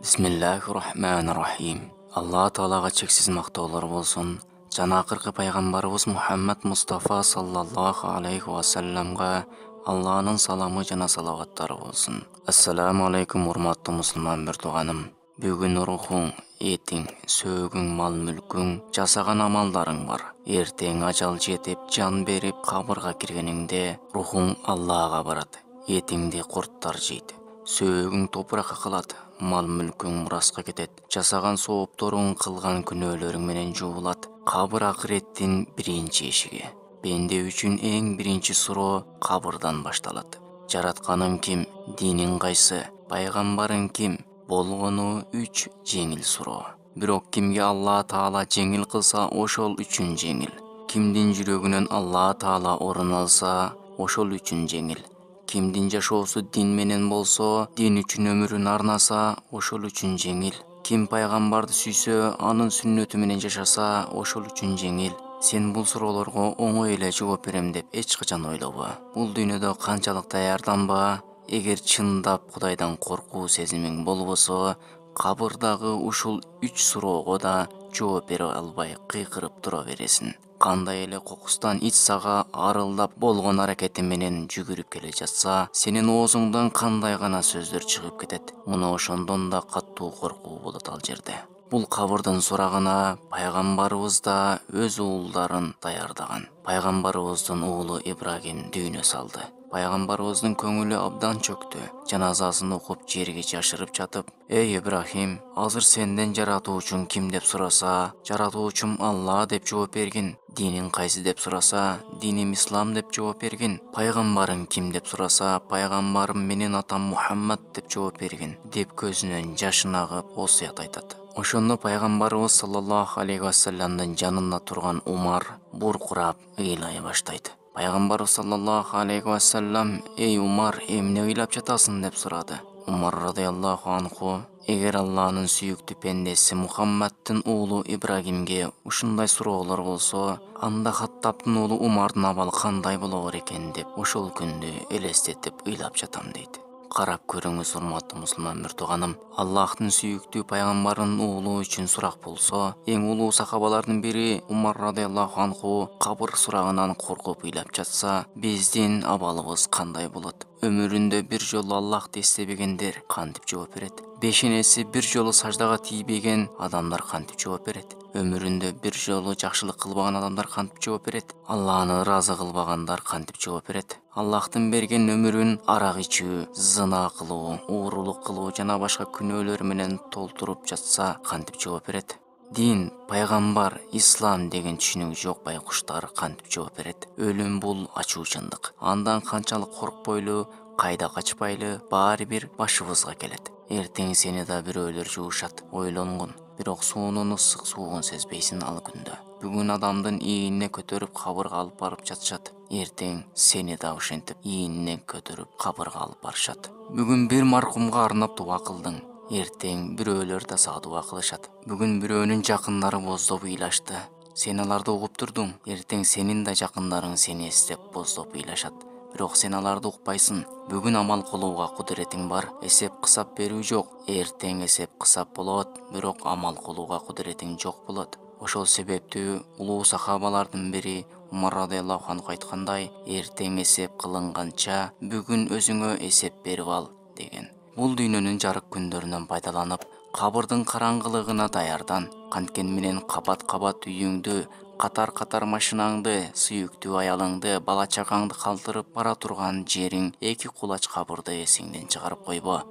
Бисмиллахир-рахманир-рахим. Алла Таалага чексиз мактоолор болсун. Жана акыркы пайгамбарыбыз Мухаммад Мустафа саллаллаху алейхи ва салламга Алланын саламы жана салаваттары болсун. Ассаламу алейкум урматтуу мусулман бир тууганым. Бүгүн рухуң, этиң, сөөгүң, мал-мүлкүң, жасаган амалдарың бар. Эртең ажал жетип, жан берип кабырга киргениңде рухуң Аллага барат. Этиңди курттар жейт. Сөөгүң топуракка калат, мал-мүлкүң мураска кетет. Жасаган соопторуң, кылган күнөөлөрүң менен жуулат. Кабыр акыреттин биринчи эшиги. Пенде үчүн эң биринчи суроо кабырдан башталат. Жаратканың ким? Диниң кайсы? Пайгамбарың ким? Болгону 3 жеңил суроо. Бирок кимге Алла Таала жеңил кылса, ошол үчүн жеңил. Кимдин жүрөгүнөн Алла Таала орун алса, ошол үчүн жеңил. Кимдин жашоосу дин менен болсо, дин үчүн өмүрүн арнаса, ошол үчүн жеңил. Ким пайгамбарды сүйсө, анын сүннөтү менен жашаса, ошол үчүн жеңил. Сен бул суроолорго оңой эле жооп берем деп эч качан ойлобо. Бул дүйнөдө канчалык даярданба, эгер чындап Кудайдан коркуу сезимиң болбосо, кабырдагы ушул 3 суроого да жооп бере албай кыйкырып тура бересиң. Кандай эле кокустан ич сага арылдап болгон аракети менен жүгүрүп келе жатса, сенин оозуңдан кандай гана сөздөр чыгып кетет. Муну ошондон да каттуу коркуу болот ал жерде. Бул кабырдын сурагына пайгамбарыбыз да өз уулдарын даярдаган. Пайгамбарыбыздын уулу Ибрагим дүйнө салды. Пайгамбарыбыздын көңүлү абдан чөктү. Жаназасын окуп жерге жашырып жатып: "Эй Ибрахим, азыр сенден жаратуучуң ким?" деп сураса, "Жаратуучум Алла" деп жооп бергин. "Диниң кайсы?" деп сураса, "Диним ислам" деп жооп бергин. "Пайгамбарың ким?" деп сураса, "Пайгамбарым менин атам Мухаммад" деп жооп бергин, деп көзүнөн жашын агып осуят айтат. Ошондо пайгамбарыбыз саллаллаху алейхи ва салламдын жанында турган Умар буркурап ыйлай баштайт. Пайгамбарыбыз саллаллаху алейхи ва саллам: "Эй Умар, эмне ыйлап жатасың?" деп сурады. Умар радыйаллаху анху: "Эгер Алланын сүйүктүү пендеси Мухаммадтын уулу Ибрагимге ушундай суроолор болсо, анда Хаттабтын уулу Умардын абалы кандай болор экен?" деп ошол күндү элестетип ыйлап жатам дейт. Карап көрүңүз, урматтуу мусулман бир тууганым. Аллахтын сүйүктүү пайгамбарынын уулу үчүн сурак болсо, эң улуу сахабалардын бири Умар радыйаллаху анху кабыр сурагынан коркуп ыйлап жатса, биздин абалыбыз кандай болот? Өмүрүндө бир жолу Аллахты эстебегендер кантип жооп берет? Бешенеси бир жолу саждага тийбеген адамдар кантип жооп берет? Өмүрүндө бир жолу жакшылык кылбаган адамдар кантип жооп берет? Алланы ыраазы кылбагандар кантип жооп берет? Аллахтын берген өмүрүн арак ичүү, зына кылуу, уурулук кылуу жана башка күнөөлөр менен толтуруп жатса кантип жооп берет? Дин, пайгамбар, ислам деген түшүнүк жок байкуштар кантип жооп берет? Өлүм бул ачуу чындык. Андан канчалык коркпойлу, кайда качпайлы, баары бир башыбызга келет. Эртең сени да бирөөлөр жуушат, ойлонгун. Бирок суунун ысык суугун сезбейсиң ал күндө. Бүгүн адамдын ээнине көтөрүп кабырга алып барып жатышат. Эртең сени да ошентип ээнине көтөрүп кабырга алып барышат. Бүгүн бир маркумга арнап дуба кылдың. Эртең бирөөлөр да сага дуба кылышат. Бүгүн бирөөнүн жакындары боздоп ыйлашты. Сен аларды угуп турдуң. Эртең сенин да жакындарың сени эстеп боздоп ыйлашат. Бирок сен аларды укпайсың. Бүгүн амал кылууга кудуретиң бар, эсеп кысап берүү жок. Эртең эсеп кысап болот, бирок амал кылууга кудуретиң жок болот. Ошол себептүү улуу сахабалардын бири Умар радыйаллаху анху айткандай: "Эртең эсеп кылынганча бүгүн өзүңө эсеп берип ал" деген. Бул дүйнөнүн жарык күндөрүнөн пайдаланып, кабырдын караңгылыгына даярдан. Канткен менен кабат-кабат үйүңдү, катар-катар машинаңды, сүйүктүү аялыңды, бала-чагаңды калтырып бара турган жериң 2 кулач кабырды эсиңден чыгарып койбо.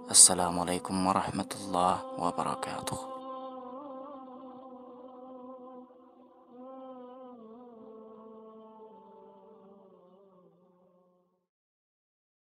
Ассаламу алейкум ва рахматуллах ва баракатух.